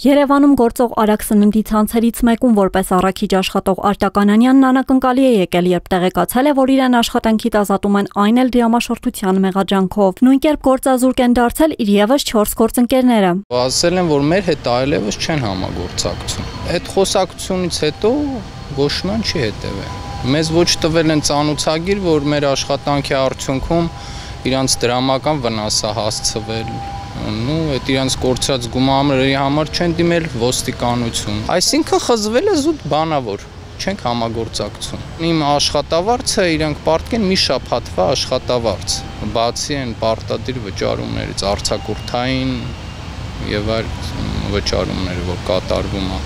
Երևանում գործող արագ սննդի ցանցերից մեկում որպես առաքիչ աշխատող Արտակ Անանյանն անակնկալի է եկել, երբ տեղեկացել է, որ իրեն աշխատանքից ազատում են, այն էլ դրամաշորթության մեղադրանքով։ Նույն կերպ գործազուրկ են դարձել իր ևս 4 գործընկերները։ Ասել են, որ մեր հետ այլևս չեն համագործակցում։ Այդ խոսակցությունից հետո ոչ ոք չի հետևել։ Մեզ ոչ տվել են ծանուցագիր, որ մեր աշխատանքի արդյունքում իրանց դրամական վնաս է հասցվել։ Այդ իրանց կորցրած գումարների համար չեն դիմել ոստիկանություն։ Այսինքն խզվել է զուտ բանավոր, չենք համագործակցում։ Իմ աշխատավարձը իրանք պարտքեն մի շաբաթվա աշխատավարձ, բացի են պարտադիր վճարումներից, արձակուրդային եւ այլ վճարումները, որ կատարվում է։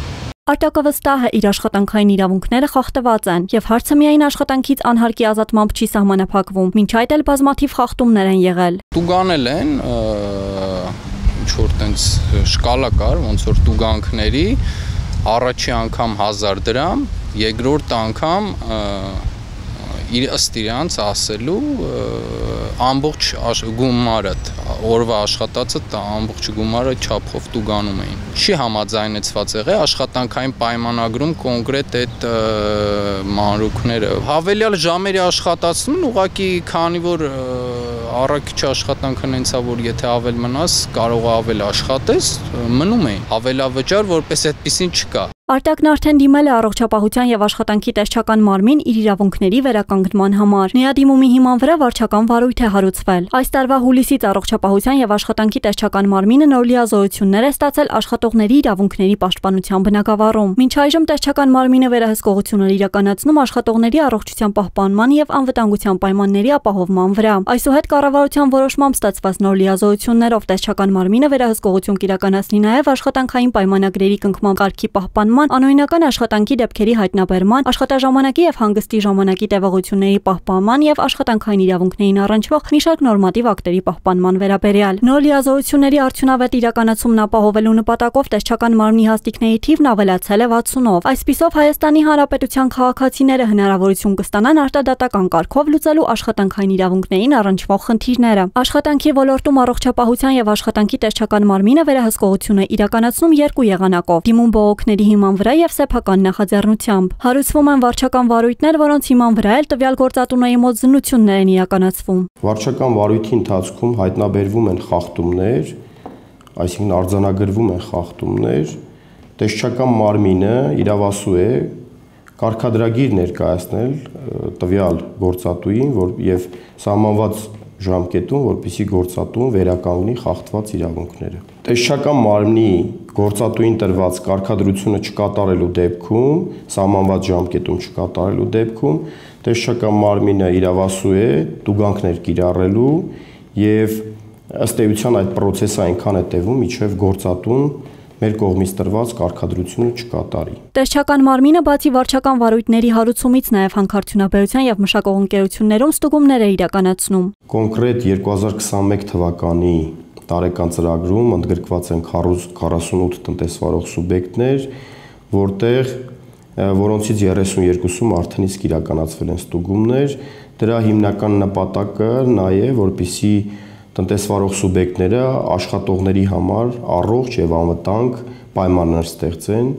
Արտակը վստահ է, իր աշխատանքային իրավունքները խախտված են, եւ հարցը միայն աշխատանքից անհարկի ազատմամբ չի սահմանափակվում, մինչ այդ էլ բազմաթիվ խախտումներ են եղել։ Տուգանել են ինչ որ տենց շկալա կար, ոնց որ տուգանքների առաջի անգամ 1000 դրամ, երկրորդ անգամ ըստ իրանց ասելու ամբողջ գումարը, օրվա աշխատածը ամբողջ գումարը չափով տուգանում էին։ Չի համաձայնեցված եղել աշխատանքային պայմանագրում կոնկրետ այդ մանրուքները։ Հավելյալ ժամերի աշխատացնում ուղղակի քանի որ առաքիչ աշխատանքն հենց է, որ եթե ավել մնաս, կարող է ավել աշխատես, մնում էին։ Հավելավճար որպես այդպեսին չկա։ Արտակն արդեն դիմել է առողջապահության եւ աշխատանքի տեսչական մարմին իր իրավունքների վերականգնման համար։ Նրա դիմումի հիման վրա վարչական վարույթ է հարուցվել։ Այս տարվա հուլիսից առողջապահության եւ աշխատանքի տեսչական մարմինը նոր լիազորություններ է ստացել աշխատողների իրավունքների պաշտպանության բնագավառում։ Մինչ այժմ տեսչական մարմինը վերահսկողություններ իրականացնում աշխատողների առողջության պահպանման եւ անվտանգության պայմանների ապահովման վրա։ Այսուհետ կառավարության որոշմամբ ստացված նոր լիազորություններով տեսչական մարմինը վերահսկողություն կիրականացնի նաեւ աշխատանքային պայմանագրերի կնքման կարգի պահպանման, անօրինական աշխատանքի դեպքերի հայտնաբերման, աշխատաժամանակի եւ հանգստի ժամանակի տևողությունների պահպանման եւ աշխատանքային իրավունքներին առնչվող մի շարք նորմատիվ ակտերի պահպանման վերաբերյալ։ Նոր լիազորությունների արդյունավետ իրականացումն ապահովելու նպատակով տեսչական մարմնի հաստիքների թիվն ավելացել է 60-ով։ Այսպիսով Հայաստանի Հանրապետության քաղաքացիները հնարավորություն կստանան արտադատական կարգով լուծելու աշխատանքային իրավունքներին առնչվող խնդիրները։ Աշխատանքի ոլորտում առողջապահության եւ աշխատանքի տեսչական մարմինը վերահսկողություն է իրականացնում երկու եղանակով՝ դիմում բողոքների հիման վրա եւ սեփական նախաձեռնությամբ։ Հարուցվում են վարչական վարույթներ, որոնց հիման վրա էլ տվյալ գործատուների մոտ զննություններ են իրականացվում։ Վարչական վարույթի ընթացքում հայտնաբերվում են խախտումներ, այսինքն արձանագրվում են խախտումներ, տեսչական մարմինը իրավասու է կարգադրագիր ներկայացնել տվյալ գործատուին, որ եւ սահմանված ժամկետում, որպեսզի գործատուն վերականգնի խախտված իրավունքները։ Տեսչական մարմնի գործատուին տրված կարգադրությունը չկատարելու դեպքում, սահմանված ժամկետում չկատարելու դեպքում, տեսչական մարմինը իրավասու է տուգանքներ կիրառելու եւ ըստ էության այդ process-ը այնքան է տևում, մինչեւ գործատուն մեր կողմից տրված կարգադրությունը չկատարի։ Տեսչական մարմինը բացի վարչական վարույթների հարուցումից նաև հանքարդյունաբերության եւ մշակող ընկերություններում ստուգումներ է իրականացնում։ Կոնկրետ 2021 թվականի տարեկան ծրագրում ընդգրկված են 48 տնտեսվարող սուբյեկտներ, որոնցից 32-ում արդեն իսկ իրականացվել են ստուգումներ։ Դրա հիմնական նպատակը նա է, որպեսզի տնտեսվարող սուբյեկտները աշխատողների համար առողջ եւ անվտանգ պայմաններ ստեղծեն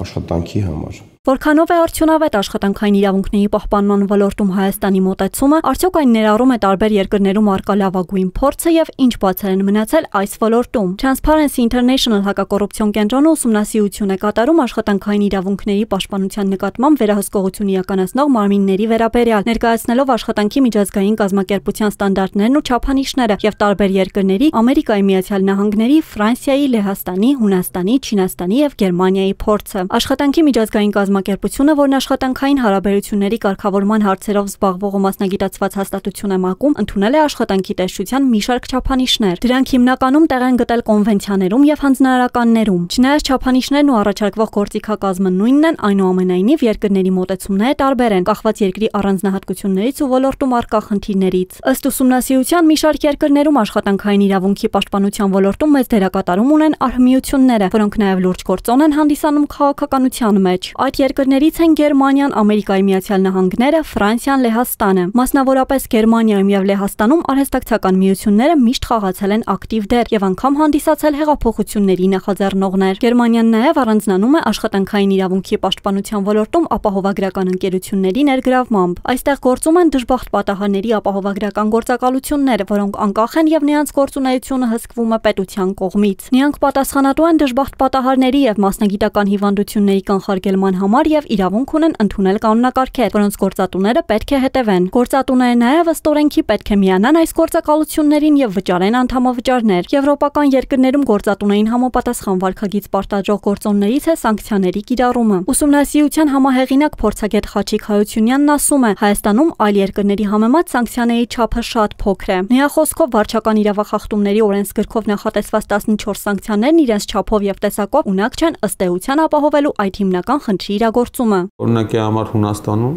աշխատանքի համար։ Որքանով է արդյունավետ աշխատանքային իրավունքների պահպանման ոլորտում Հայաստանի մոտեցումը, արդյոք այն ներառում է տարբեր երկրներում առկա լավագույն փորձը եւ ինչ բացեր են մնացել այս ոլորտում։ Transparency International հակակոռուպցիոն կենտրոնը ուսումնասիրություն է կատարում աշխատանքային իրավունքների պաշտպանության նկատմամբ վերահսկողություն իրականացնող մարմինների վերաբերյալ, ներկայացնելով աշխատանքի միջազգային կազմակերպության ստանդարտներն ու չափանիշները եւ տարբեր երկրների՝ Ամերիկայի Միացյալ Նահանգների, Ֆրանսիայի, Լեհաստանի, Հունաստանի, Չինաստանի եւ Գերմանիայի փորձը։ Աշխատանքի միջազգային կազմակերպությունը, որն աշխատանքային հարաբերությունների կարգավորման հարցերով զբաղվող ու մասնագիտացված հաստատություն է ՄԱԿ-ում, ընդունել է աշխատանքի տեսչության մի շարք չափանիշներ։ Դրանք հիմնականում տեղ են գտել կոնվենցիաներում եւ հանձնարարականներում։ Չնայած չափանիշներն ու առաջարկվող գործիքակազմը նույնն են, այնուամենայնիվ երկրների մոտեցումները տարբեր են, կախված երկրի առանձնահատկություններից ու ոլորտում առկա խնդիրներից։ Ըստ ուսումնասիրության մի շարք երկրներում աշխատանքային իրավունքի պաշտպանության ոլորտում մեծ դերակատարում ունեն արհմիությունները, որոնք նաեւ լուրջ գործոն են հանդիսանում քաղաքականության մեջ։ Այդ երկրներից են Գերմանիան, Ամերիկայի Միացյալ Նահանգները, Ֆրանսիան, Լեհաստանը։ Մասնավորապես Գերմանիայում եւ Լեհաստանում արհեստակցական միությունները միշտ խաղացել են ակտիվ դեր եւ անգամ հանդիսացել հեղափոխությունների նախաձեռնողներ։ Գերմանիան նաեւ առանձնանում է աշխատանքային իրավունքի պաշտպանության ոլորտում ապահովագրական ընկերությունների ներգրավմամբ։ Այստեղ գործում են դժբախտ պատահարների ապահովագրական գործակալություններ, որոնք անկախ են եւ նրանց գործունեությունը հսկվում է պետության կողմից։ Նրանք պատասխանատու են դժբախտ պատահարների եւ մասնագիտական հիվանդությունների կանխարգելման համար եւ իրավունք ունեն ընդունել կանոնակարգեր, որոնց գործատուները պետք է հետևեն։ Գործատուները նաեւ ըստ օրենքի պետք է միանան այս գործակալություններին եւ վճարեն անդամավճարներ։ Եվրոպական երկրներում գործատուներին համապատասխան վարքագիծ պարտադրող գործոններից է սանկցիաների կիրառումը։ Ուսումնասիրության համահեղինակ փորձագետ Խաչիկ Հայությունյանն ասում է, Հայաստանում այլ երկրների համեմատ սանկցիաների չափը շատ փոքր է։ Նրա խոսքով վարչական իրավախախտումների օրենսգրքով նախատեսված 14 սանկցիաներն իրենց չափով եւ տեսակով ունակ չեն ըստ էության ապահովելու այդ հիմնական խնդրի իրագործումը։ Օրինակի համար Հունաստանում,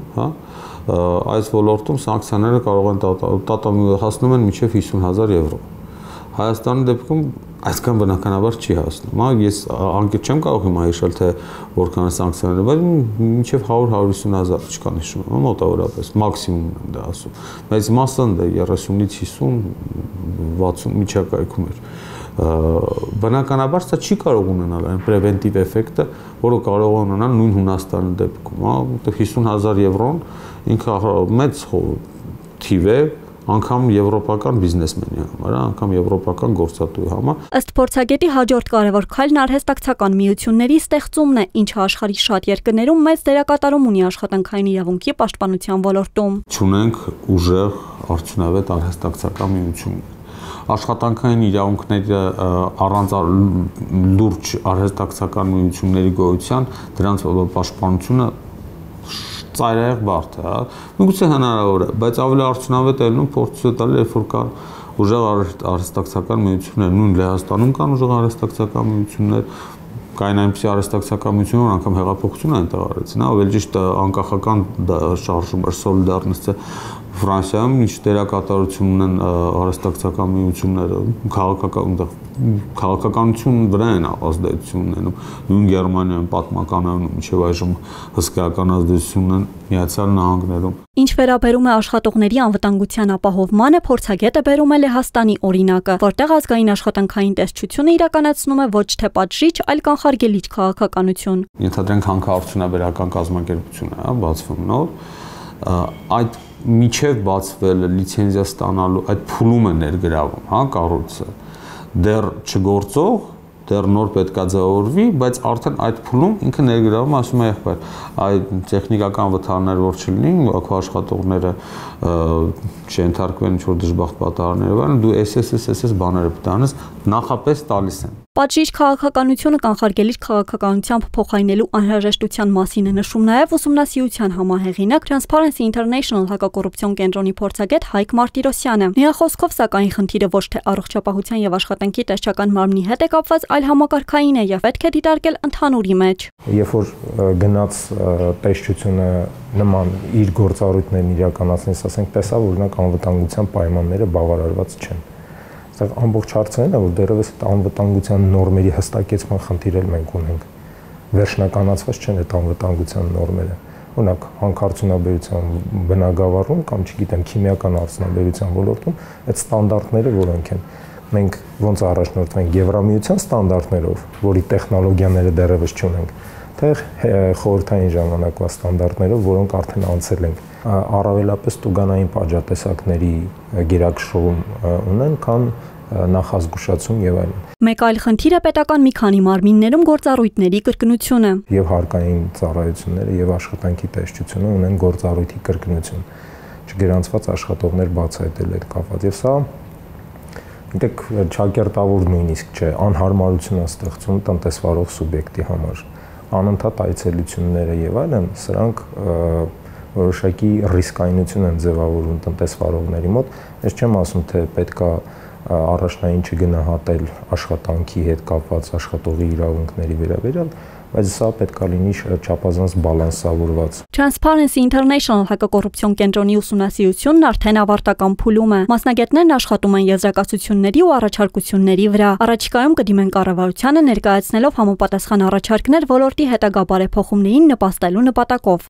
այս ոլորտում սանկցիաները կարող են հասնում են մինչև 50,000 եվրո։ Հայաստանի դեպքում այսքան բնականաբար չի հասնում։ Ես անկեղծ չեմ կարող հիմա հիշել, թե որքան է սանկցիաները, բայց մինչև 100-150,000 չկան հիշում, մոտավորապես, մաքսիմումն եմ դա ասում։ Բայց մասն դա 30-ից 50, 60 միջակայքում էր։ Բնականաբար սա չի կարող ունենալ այն պրևենտիվ էֆեկտը, որը կարող է ունենալ նույն Հունաստանի դեպքում, 50,000 եվրոն ինքը մեծ թիվ է, անգամ եվրոպական բիզնեսմենի համար, անգամ եվրոպական գործատուի համար։ Ըստ փորձագետի հաջորդ կարևոր քայլն արհեստակցական միությունների ստեղծումն է, ինչը աշխարհի շատ երկրներում մեծ դերակատարում ունի աշխատանքային իրավունքի պաշտպանության ոլորտում։ Չունենք ուժեղ արդյունավետ արհեստակցական միություններ։ Աշխատանքային իրավունքները առանց լուրջ արհեստակցական միությունների գոյության դրանց պաշտպանությունը ծայրահեղ բարդ է, միգուցե հնարավոր է, բայց ավելի արդյունավետ է լինում փորձը տալ, երբ որ կան ուժեղ արհեստակցական միություններ, նույն Լեհաստանում կան ուժեղ արհեստակցական միություններ, կային այնպիսի արհեստակցական միություններ, որ անգամ հեղափոխություն են տեղարեցին, ավելի ճիշտ անկախական շարժում էր Սոլիդարնիստը Ֆրանսիայում ինչ դերակատարություն ունեն արհեստակցական միությունները, քաղաքականություն վրա են ազդեցություն ունենում, նույն Գերմանիայում պատմականանում մինչև այժմ հսկայական ազդեցություն ունեն Միացյալ Նահանգներում։ Ինչ վերաբերում է աշխատողների անվտանգության ապահովմանը, փորձագետը բերում է Լեհաստանի օրինակը, որտեղ ազգային աշխատանքային տեսչությունը իրականացնում է ոչ թե պատժիչ, այլ կանխարգելիչ քաղաքականություն։ Ենթադրենք հանքարդյունաբերական կազմակերպություն է բացվում նոր, այդ միջև բացվել լիցենզիա ստանալու այդ փուլում է ներգրավում, կառույցը դեռ չգործող, դեռ նոր պետքա ձևավորվի, բայց արդեն այդ փուլում ինքը ներգրավում, ասում է եղբայր, այդ տեխնիկական վթարներ որ չլինի, քո աշխատողները չընթարկվեն ինչ-որ դժբախտ պատահարներով, դու SSS բաները պտանես, նախապես տալիս են։ Պատժիչ քաղաքականությունը կանխարգելիչ քաղաքականությամբ փոխարինելու անհրաժեշտության մասին է նշում նաև ուսումնասիրության համահեղինակ Transparency International հակակոռուպցիոն կենտրոնի փորձագետ Հայկ Մարտիրոսյանը։ Նրա խոսքով սակայն խնդիրը ոչ թե առողջապահության եւ աշխատանքի տեսչական մարմնի հետ է կապված, այլ համակարգային է եւ պետք է դիտարկել ընդհանուրի մեջ։ Երբ որ գնաց տեսչությունը նման իր գործառույթներն իրականացնես, ասենք տեսա, որ նրանք անվտանգության պայմանները բավարարված չեն։ Ամբողջ հարցը այն է, որ դեռևս այդ անվտանգության նորմերի հստակեցման խնդիր էլ մենք ունենք։ Վերջնականացված չեն այդ անվտանգության նորմերը։ Օրինակ, հանքարդյունաբերության բնագավառում կամ չգիտեմ, քիմիական արդյունաբերության ոլորտում այդ ստանդարտները որոնք են։ Մենք ոնց առաջնորդվենք Եվրամիության ստանդարտներով, որի տեխնոլոգիաները դեռևս չունենք, թե խորհրդային ժամանակվա ստանդարտներով, որոնք արդեն անցել ենք, առավելապես տուգանային պատժատեսակների գերակշռում ունեն, քան նախազգուշացում եւ այլն։ Մեկ այլ խնդիր է պետական մի քանի մարմիններում գործառույթների կրկնությունը։ Եվ հարկային ծառայությունները եւ աշխատանքի տեսչությունը ունեն գործառույթի կրկնություն։ Չգրանցված աշխատողներ բացահայտել այդ կապված եւ սա դեք ճակերտավոր նույնիսկ չէ, անհարմարություն է ստեղծում տնտեսվարող սուբյեկտի համար։ Անընդհատ այցելությունները եւ այլն, սրանք որոշակի ռիսկայնություն են ձևավորում տնտեսվարողների մոտ։ Ես չեմ ասում, թե պետքա առաջնային չգնահատել աշխատանքի հետ կապված աշխատողի իրավունքների վերաբերյալ, բայց սա պետք է լինի չափազանց բալանսավորված։ Transparency International հակակոռուպցիոն կենտրոնի ուսումնասիրությունն արդեն ավարտական փուլում է։ Մասնագետներն աշխատում են եզրակացությունների ու առաջարկությունների վրա։ Առաջիկայում կդիմեն կառավարությանը ներկայացնելով համապատասխան առաջարկներ ոլորտի հետագա բարեփոխումներին նպաստելու նպատակով։